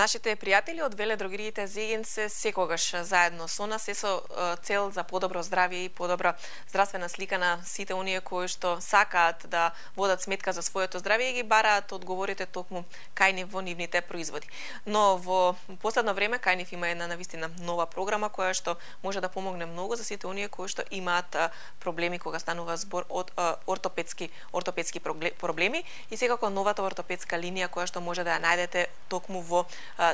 Нашите пријатели од веледрогериите Зегин се секогаш заедно со нас, се со цел за подобро здравје и подобра здравствена слика на сите оние кои што сакаат да водат сметка за своето здравје и ги бараат одговорите токму кај нив во нивните производи. Но во последно време кај нив има една навистина нова програма која што може да помогне многу за сите оние кои што имаат проблеми кога станува збор од ортопедски проблеми и секако новата ортопедска линија која што може да ја најдете токму во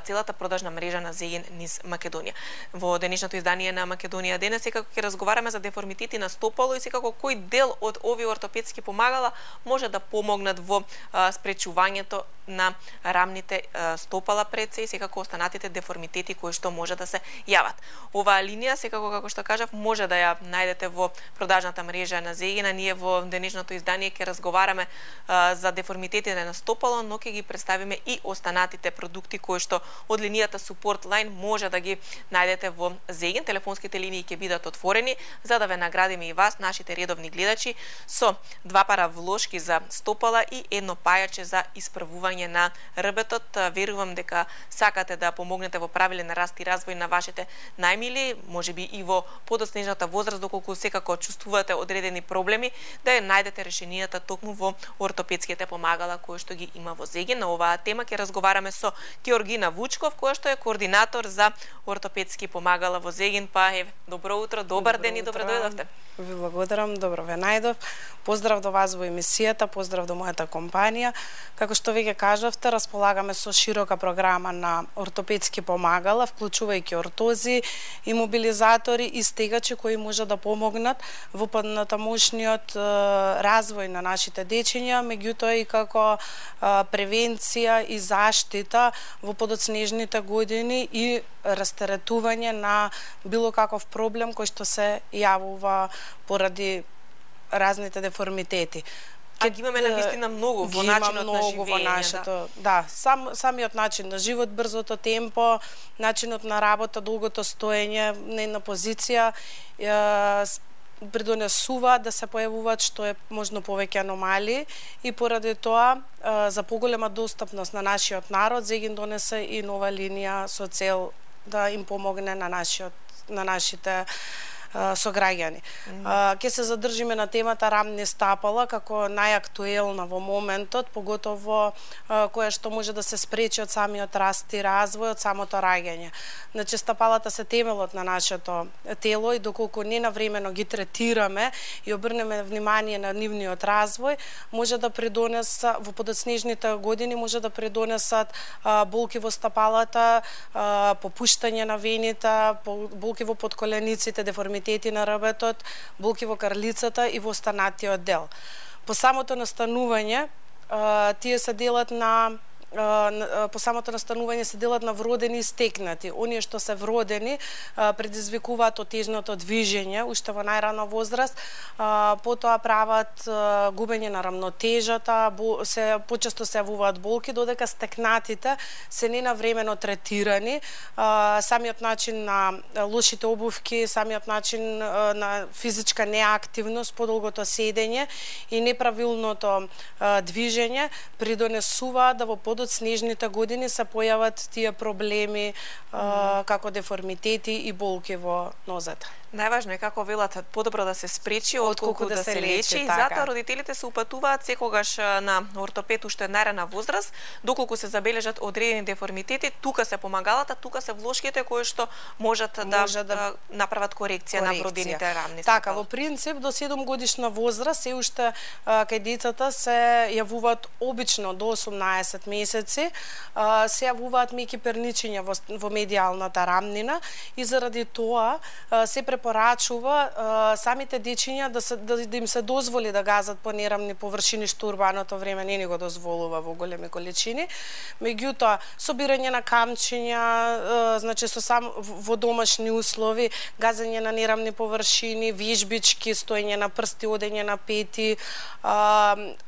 целата продажна мрежа на Зегин низ Македонија. Во денешното издание на Македонија денес секако ќе разговараме за деформитети на стопало и секако кој дел од овие ортопедски помагала може да помогнат во спречувањето на рамните стопала пред се и секако останатите деформитети кои што може да се јават. Оваа линија секако како што кажав може да ја најдете во продажната мрежа на Зегина. Ние во денешното издание ќе разговараме за деформитетите на стопало, но ќе ги представиме и останатите продукти кои што од линијата Support Line може да ги најдете во Зегин. Телефонските линии ќе бидат отворени за да ве наградиме и вас, нашите редовни гледачи, со 2 пара влошки за стопала и едно пајаче за исправување на рбетот. Верувам дека сакате да помогнете во правилен раст и развој на вашите најмили, можеби и во подоцнежната возраст, доколку секако чувствувате одредени проблеми, да ја најдете решенијата токму во ортопедските помагала кои што ги има во Зегин. На оваа тема ќе разговараме со Георгина Вучков, која што е координатор за ортопедски помагала во Зегин. Па добро утро, добар ден и добро дојдовте. Ви благодарам, добро ве најдов. Поздрав до вас во емисијата, поздрав до мојата компанија. Како што веќе кажавте, располагаме со широка програма на ортопедски помагала, вклучувајќи ортози, имобилизатори и стегачи кои може да помогнат во понатамошниот развој на нашите дечиња, меѓутоа и како превенција и заштита во подоцнежните години и растеретување на било каков проблем кој што се јавува поради разните деформитети. А ги имаме навистина многу во начинот на живење. Да, самиот начин на живот, брзото темпо, начинот на работа, долгото стоење на една позиција придонесува да се појавуваат што е можно повеќе аномалии и поради тоа за поголема достапност на нашиот народ Зегин донесе и нова линија со цел да им помогне на нашите сограѓани. Ќе се задржиме на темата рамни стапала како најактуелна во моментот, поготово која што може да се спречи од самиот раст и развој, од самото раѓање. Значи стапалата се темелот на нашето тело и доколку не навремено ги третираме и обрнеме внимание на нивниот развој, може да придонесе во подоцнежните години може да придонесат болки во стапалата, попуштање на вените, болки во подколениците, деформитети на рбетот, болки во карлицата и во останатиот дел. По самото настанување, тие се делат на вродени и стекнати. Оние што се вродени предизвикуваат отежното движење уште во најрана возраст, потоа прават губење на рамнотежата, почесто се јавуваат болки, додека стекнатите се ненавремено третирани. Самиот начин на лошите обувки, самиот начин на физичка неактивност, подолгото седење и неправилното движење придонесуваат да во подоцнежните години се појават тие проблеми како деформитети и болки во нозете. Најважно е, како велат, подобро да се спречи отколку да се лечи. И затоа родителите се упатуваат секогаш на ортопед уште најрана возраст, доколку се забележат одредени деформитети, тука се помагалата, тука се влошките кои што можат да направат корекција на вродените рамни стапала. Така, во принцип до 7 годишна возраст се уште кај децата се јавуваат обично до 18 месеци, се јавуваат меки перничиња во медијалната рамнина и заради тоа се препорачува самите дечиња да им се дозволи да газат по нерамни површини што урбаното време не ни го дозволува во големи количини. Меѓутоа, собирање на камчиња, значи во домашни услови, газење на нерамни површини, вежбички, стоење на прсти, одење на пети,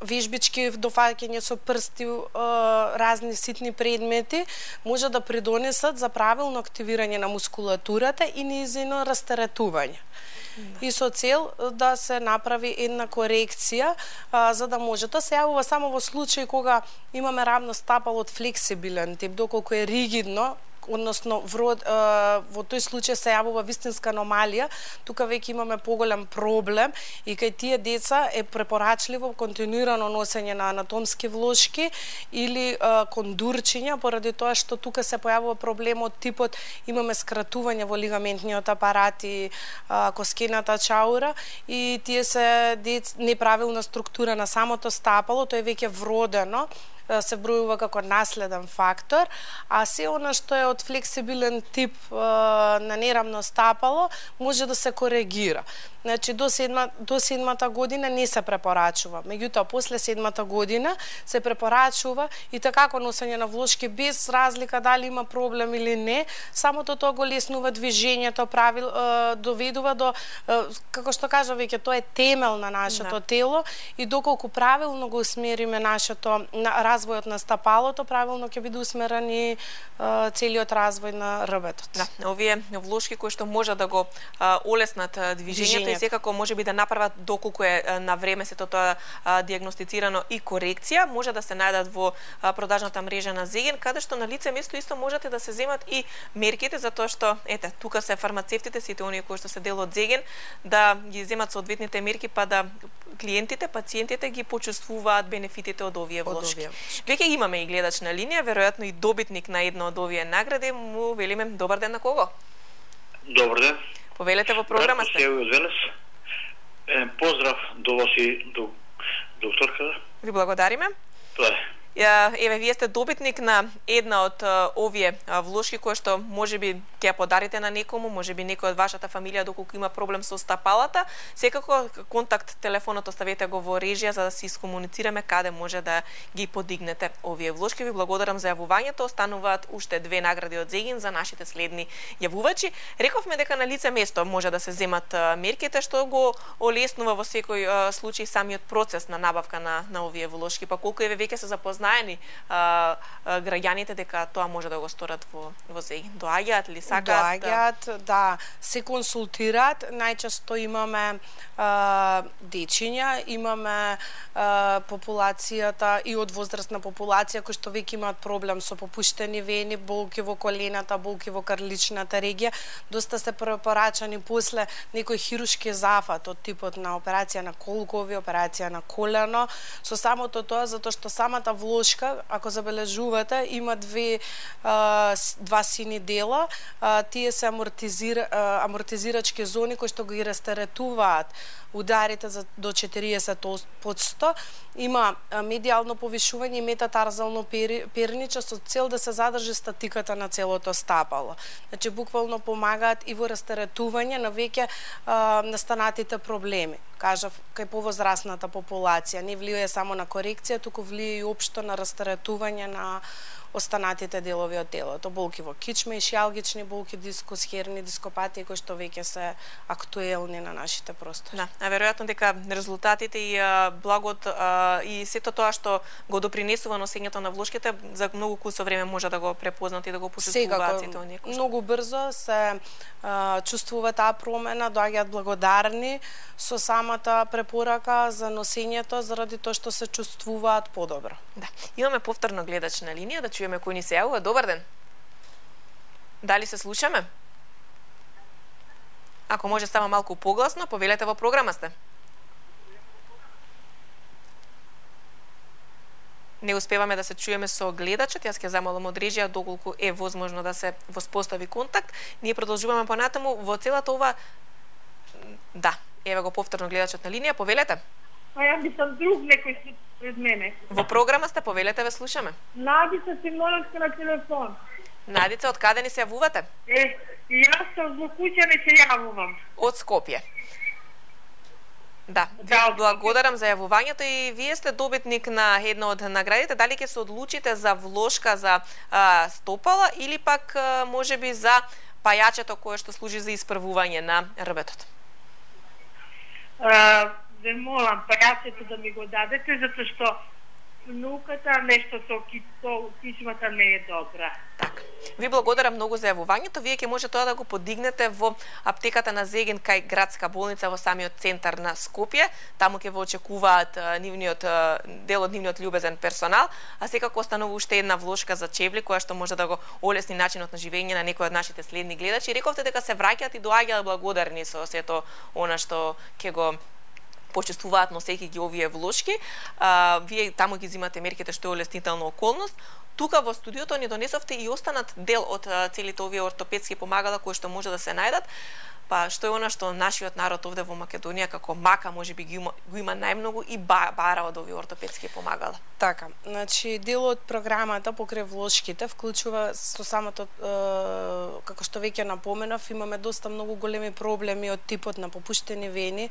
вежбички, дофаќање со прсти, разни ситни предмети, може да придонесат за правилно активирање на мускулатурата и нејзино растеретување. и со цел да се направи една корекција, за да може. Тоа се јавува само во случај кога имаме рамно стапало од флексибилен тип, доколку е ригидно, односно во тој случај се јавува вистинска аномалија, тука веќе имаме поголем проблем и кај тие деца е препорачливо континуирано носење на анатомски влошки или кондурчиња, поради тоа што тука се појавува проблемот типот имаме скратување во лигаментниот апарат и коскената чаура и тие се неправилна структура на самото стапало, тоа е веќе вродено, се бројува како наследен фактор, а се она што е од флексибилен тип на нерамно стапало може да се коригира. Значи, до седмата година не се препорачува. Меѓутоа, после седмата година се препорачува и такако носење на влошки без разлика дали има проблем или не. Самото тоа го леснува движењето, доведува до, како што кажа веќе, тоа е темел на нашето тело и доколку правилно го усмериме развојот на стапалото, правилно ќе биде усмерен и целиот развој на рбетот. Да, овие влошки кои што може да го олеснат движењето и секако може би да направат доколку е на време сето тоа диагностицирано и корекција, може да се најдат во продажната мрежа на Зеген, каде што на лице место исто можете да се земат и мерките, затоа што ете, тука се фармацевтите, сите оние кои што се дел од Зеген, да ги земат соодветните мерки, па да клиентите, пациентите ги почувствуваат бенефитите од овие влошки. Веќе имаме и гледач на линија, веројатно и добитник на една од овие награди, му велиме добар ден на кого? Добар ден. Повелете во програма сте. Поздрав до вас и до докторка. Ви благодариме. Тоа е. Еве, вие сте добитник на една од овие влошки кои што можеби ќе ја подарите на некому, можеби некој од вашата фамилија доколку има проблем со стапалата. Секако контакт телефонот оставете го во режија за да се искомуницираме каде може да ги подигнете овие влошки. Ви благодарам за јавувањето. Остануваат уште 2 награди од Зеген за нашите следни јавувачи. Рековме дека на лице место може да се земат мерките што го олеснува во секој случај самиот процес на набавка на овие влошки. Па колку еве веќе се запознаени граѓаните дека тоа може да го сторат во Зеген. Доаѓаат ли сакаат? Доаѓаат, да, се консултираат. Најчесто имаме дечиња, имаме популацијата и од возрастна популација кои што веќе имаат проблем со попуштени вени, болки во колената, болки во карличната регија. Доста се препорачани после некој хирушки зафат од типот на операција на колкови, операција на колено. Со самото тоа, затоа што самата влошка, ако забележувате, има два сини дела. Тие се амортизирачки зони кои што ги растеретуваат ударите до 40%. Има медијално повишување и метатарзално перниче со цел да се задржи статиката на целото стапало. Значи, буквално помагаат и во растеретување на веќе настанатите проблеми. Кажав, кај повозрастната популација. Не влијае само на корекција, туку влијае и општо на растеретување на останатите делови од телото, болки во кичме, ишијалгични болки, дискус, херни, дископатии кои што веќе се актуелни на нашите простори. Да, а веројатно дека резултатите и благот и сето тоа што го допринесува носењето на влошките за многу кусо време може да го препознат и да го почувствуваат сите оние кои што многу брзо се чувствува таа промена, доаѓаат благодарни со самата препорака за носењето заради тоа што се чувствуваат подобро. Да, имаме повторно гледач на линија, да чуеме кој ни се јавува. Добар ден. Дали се слушаме? Ако може само малку погласно, повелете во програма сте. Не успеваме да се чуеме со гледачот, јас ќе замолам од режија доколку е возможно да се воспостави контакт. Ние продолжуваме понатаму во целата ова. Да, еве го повторно гледачот на линија, повелете. А ја мислам друг некој пред мене. Во програма сте, повелете, ве слушаме. Надица Симоновска на телефон. Надица, од каде ни се јавувате? Јас сум во куќа не се јавувам. Од Скопје. Да, благодарам за јавувањето и вие сте добитник на една од наградите. Дали ќе се одлучите за влошка за стопала или пак можеби за пајачето кое што служи за испрвување на рбетот? Ве молам пајачето да ми го дадете, затоа што внуката нешто со кичмата не е добра. Така. Ви благодарам многу за јавувањето. Вие ќе може тоа да го подигнете во аптеката на Зегин кај градска болница во самиот центар на Скопје. Таму ќе ве очекуваат дел од нивниот љубезен персонал, а секако останува уште една влошка за чевли која што може да го олесни начинот на живење на некои од нашите следни гледачи. Рековте дека се враќаат и доаѓаат благодарни со сето она што ќе го почувствуваат носејќи ги овие влошки. Вие таму ги земате мерките што е олеснителна околност. Тука во студиото ни донесовте и останат дел од целите овие ортопедски помагала кои што може да се најдат. Па што е она што нашиот народ овде во Македонија како мака можеби го има најмногу и бара од овие ортопедски помагала. Така, значи дел од програмата покрај влошките вклучува со самото како што веќе напоменав, имаме доста многу големи проблеми од типот на попуштени вени,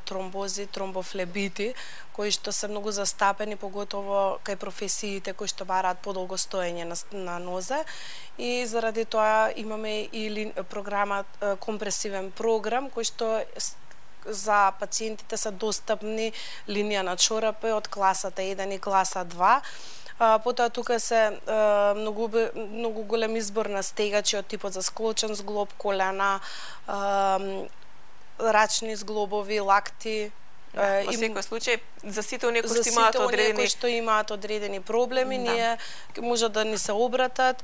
тромбози, тромбофлебити, кои што се многу застапени поготово кај професиите кои што бараат подолго стоење на нозе, и заради тоа имаме и програма компресивен програм кој што за пациентите се достапни линија на чорапи од класата 1 и класа 2. Потоа тука се многу голем избор на стегачи од типот за склочен зглоб, колена, рачни зглобови, лакти. Во секој случај, за сите оние кои што имаат одредени проблеми, ние може да ни се обратат.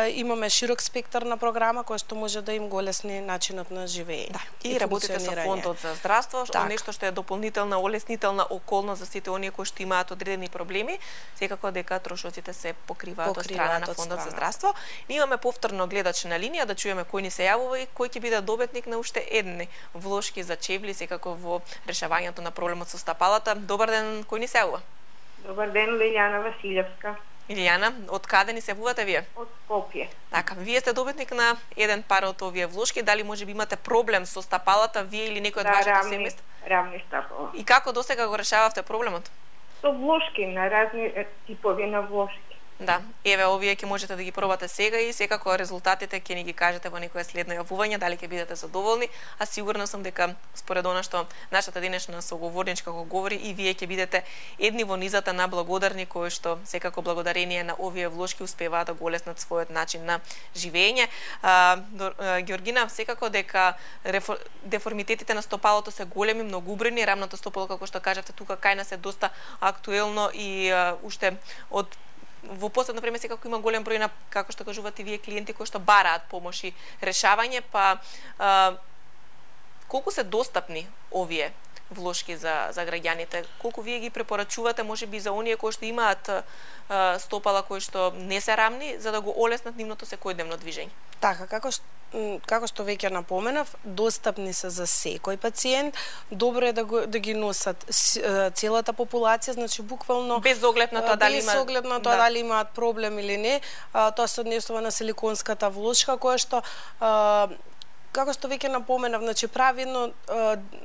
Имаме широк спектар на програма која што може да им го олесни начинот на живење. И работите со фондот за здравство, нешто што е дополнителна олеснителна околност за сите оние кои што имаат одредени проблеми, секако дека трошоците се покриваат од страна на фондот за здравство. Ние имаме повторно гледач на линија да чуеме кој ни се јавува и кој ќе биде добитник на уште едни влошки за чевли, секако во решавање на проблемот со стапалата. Добар ден, кој ни се јавува? Добар ден, Лилјана Василевска. Илијана, од каде ни се јавувате вие? Од Скопје. Така, вие сте добитник на еден пар од овие влошки. Дали можеби имате проблем со стапалата, вие или некој од вашите семејства? Рамни стапала. И како досега го решававте проблемот? Со влошки, на разни типови на влошки. Да, еве овие ќе можете да ги пробате сега и секако резултатите ќе ни ги кажете во некое следно јавување, дали ќе бидете задоволни, а сигурна сум дека според она што нашата денешна соговорничка го говори, и вие ќе бидете едни во низата на благодарни кои што секако благодарение на овие влошки успеваат да го олеснат својот начин на живење. Георгина, секако дека деформитетите на стопалото се големи, многубрени, рамното стопало како што кажавте тука кај нас е доста актуелно и уште од во последно време секако има голем број на, како што кажувате вие, клиенти кои што бараат помош и решавање, па колку се достапни овие влошки за граѓаните? Колку вие ги препорачувате можеби за оние кои што имаат стопала кои што не се рамни, за да го олеснат нивното секојдневно движење? Така, како што веќе напоменав, достапни се за секој пациент. Добро е да ги носат целата популација, значи буквално без оглед на тоа дали имаат проблем или не. Тоа се однесува на силиконската влошка која што како што веќе напоменав, значи прави едно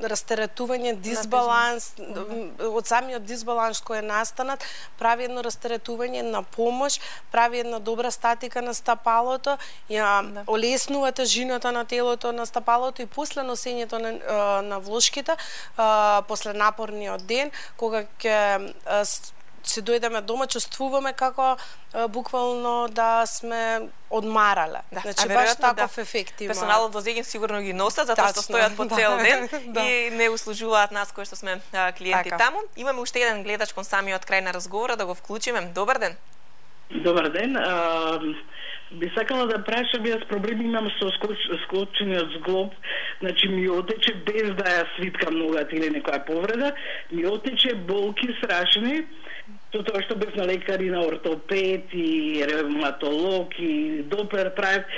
растеретување, дисбаланс, од самиот дисбаланс кој е настанат, прави едно растеретување на помош, прави една добра статика на стапалото, ја олеснува тежината на телото на стапалото и после носењето на влошките, после напорниот ден, кога ќе се дојдеме дома, чувствуваме како буквално да сме одмарале. Значи баш таков ефект има. Персоналот во Зегин сигурно ги носат затоа што стојат по цел ден и не услужуваат нас кои што сме клиенти таму. Имаме уште еден гледач кон самиот крај на разговора, да го вклучиме. Добар ден. Добар ден. Би сакала да прашам, јас проблеми имам со склочениот зглоб, значи ми отече без да ја свиткам ногата или некоја повреда, ми отече болки страшни, со тоа што бев на лекари, на ортопед и ревматолог и доплер правев,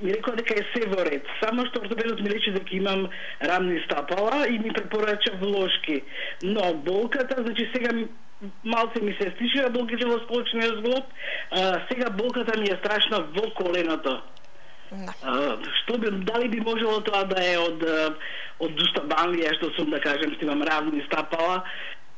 ми рекоа дека е се во ред. Само што ортопедот ми рече дека имам рамни стапала и ми препорача влошки. Но болката, значи сега малце ми се стишија болките во склочениот зглоб, сега болката ми е страшна во коленото. Дали би можело тоа да е од дустабанлија, што сум, да кажем, што имам рамни стапала,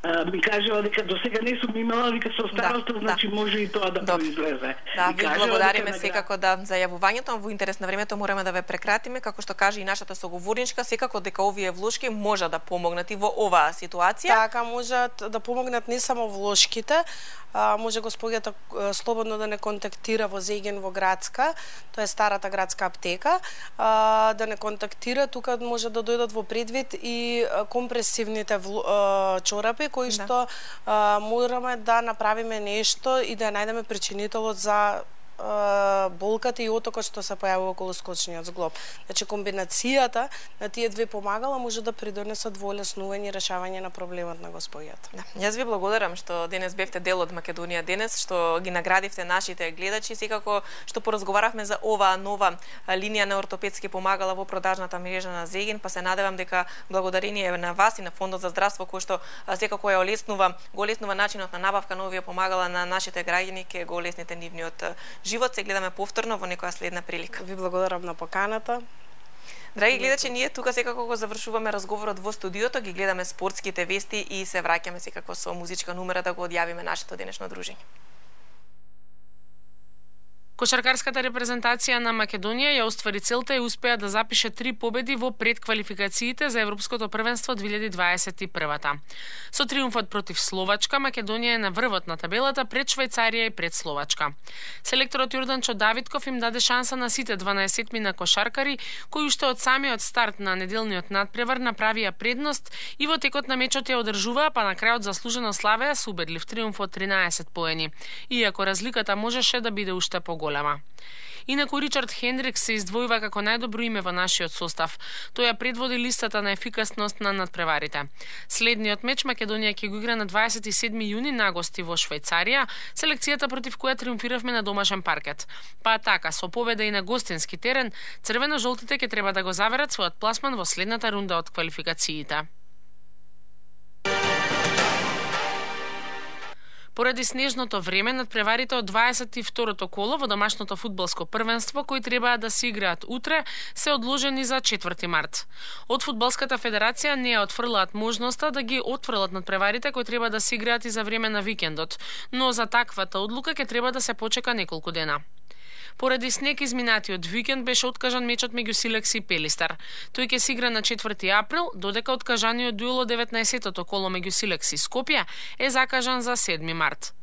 ми кажува дека досега не сум имала, вика со староста, значи може и тоа да произлезе. Да, ви благодариме секако за јавувањето, во интерес на времето мораме да ве прекратиме, како што каже и нашата соговорничка, секако дека овие влошки може да помогнат и во оваа ситуација. Така, можат да помогнат не само влошките, може господјата слободно да не контактира во Зеген во градска, тоа е старата градска аптека, да не контактира, тука може да дојдат во предвид и компресивните чорапи кои што мораме да направиме нешто и да најдеме причинителот за болката и отокот што се појавува околу скочниот зглоб. Значи комбинацијата на тие две помагала може да придонесат во олеснување и решавање на проблемот на господјата. Да. Јас ви благодарам што денес бевте дел од Македонија денес, што ги наградивте нашите гледачи, секако што поразговаравме за оваа нова линија на ортопедски помагала во продажната мрежа на Зеген, па се надевам дека благодарение на вас и на Фондот за здравство кој што секако ја го олеснува начинот на набавка на овие помагала на нашите граѓани, ќе го олесните нивниот живот. Се гледаме повторно во некоја следна прилика. Ви благодарам на поканата. Драги гледачи, ние тука секако го завршуваме разговорот во студиото, ги гледаме спортските вести и се враќаме секако со музичка номера да го одјавиме нашето денешно дружење. Кошаркарската репрезентација на Македонија ја оствари целта и успеа да запише 3 победи во предквалификациите за Европското првенство 2021. Со триумфот против Словачка, Македонија е на врвот на табелата пред Швајцарија и пред Словачка. Селекторот Јорданчо Давидков им даде шанса на сите 12 на кошаркари, кои уште од самиот старт на неделниот надпревар направија предност и во текот на мечот ја одржуваа, па на крајот заслужено славеа со убедлив триумф од 13 поени, иако разликата можеше да биде уште поголема. Инаку Ричард Хендрикс се издвојува како најдобро име во нашиот состав. Тој ја предводи листата на ефикасност на надпреварите. Следниот меч Македонија ќе го игра на 27 јуни на гости во Швајцарија, селекцијата против која триумфиравме на домашен паркет. Па така, со победа и на гостински терен, црвено-жолтите ќе треба да го заверат својот пласман во следната рунда од квалификациите. Поради снежното време, надпреварите од 22-то коло во домашното фудбалско првенство, кои требаа да се играат утре, се одложени за 4 март. Од Фудбалската федерација не ја отфрлаат можноста да ги отфрлат надпреварите кои треба да се играат и за време на викендот, но за таквата одлука ќе треба да се почека неколку дена. Поради снег изминатиот викенд беше откажан мечот меѓу Силекси и Пелистар. Тој ќе се игра на 4 април, додека откажаниот дуел од 19-тото коло меѓу Силекси и Скопје е закажан за 7 март.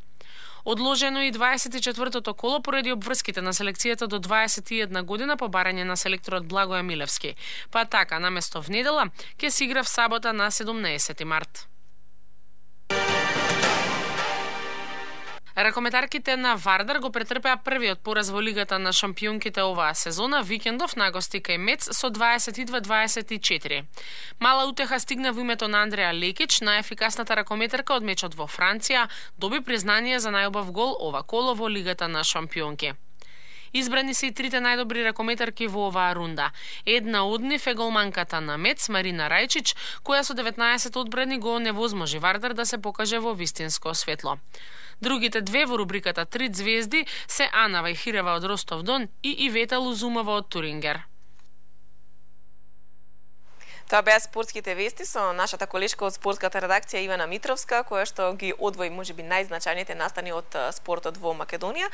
Одложено и 24-тото коло поради обврските на селекцијата до 21 година по барање на селекторот Благоја Милевски. Па така, наместо в недела, ќе се игра в сабота на 17 март. Ракометарките на Вардар го претрпеа првиот пораз во лигата на шампионките оваа сезона викендов на гости кај Мец со 22-24. Мала утеха стигна во името на Андреа Лекич, најефикасната ракометарка од мечот во Франција, доби признание за најубав гол ова коло во лигата на шампионки. Избрани се и трите најдобри ракометарки во оваа рунда. Една од нив е голманката на Мец, Марина Рајчич, која со 19 одбрани го невозможи Вардар да се покаже во вистинско светло. Другите две во рубриката 3 звезди се Ана Вајхирева од Ростов Дон и Ивета Лузумова од Турингер. Тоа беа спортските вести со нашата колешка од спортската редакција Ивана Митровска, која што ги одвои можеби најзначајните настани од спортот во Македонија.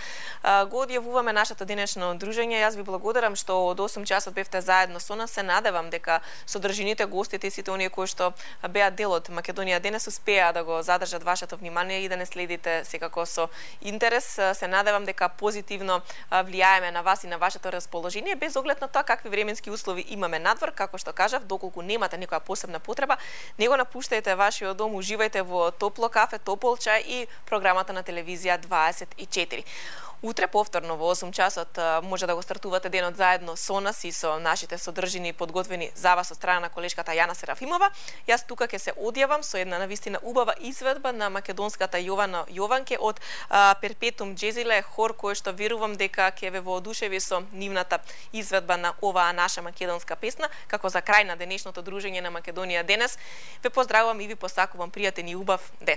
Го одјавуваме нашето денешно дружење. Јас ви благодарам што од 8 часот бевте заедно со нас. Се надевам дека содржините, гостите и сите оние кои што беа дел од Македонија денес успеа да го задржат вашето внимание и да не следите секако со интерес. Се надевам дека позитивно влијаеме на вас и на вашето расположение, без оглед на тоа какви временски услови имаме надвор. Како што кажав, доколку немате некоја посебна потреба, не го напуштајте вашиот дом, уживајте во топло кафе, топол чај и програмата на телевизија 24. Утре повторно во 8 часот може да го стартувате денот заедно со нас и со нашите содржини подготвени за вас од страна на колешката Јана Серафимова. Јас тука ќе се одјавам со една навистина убава изведба на македонската Јована Јованке од Перпетум Джезиле, хор кој што верувам дека ќе ве воодушеви со нивната изведба на оваа наша македонска песна. Како за крај на денешното дружење на Македонија денес, ве поздравувам и ви посакувам пријатен и убав ден.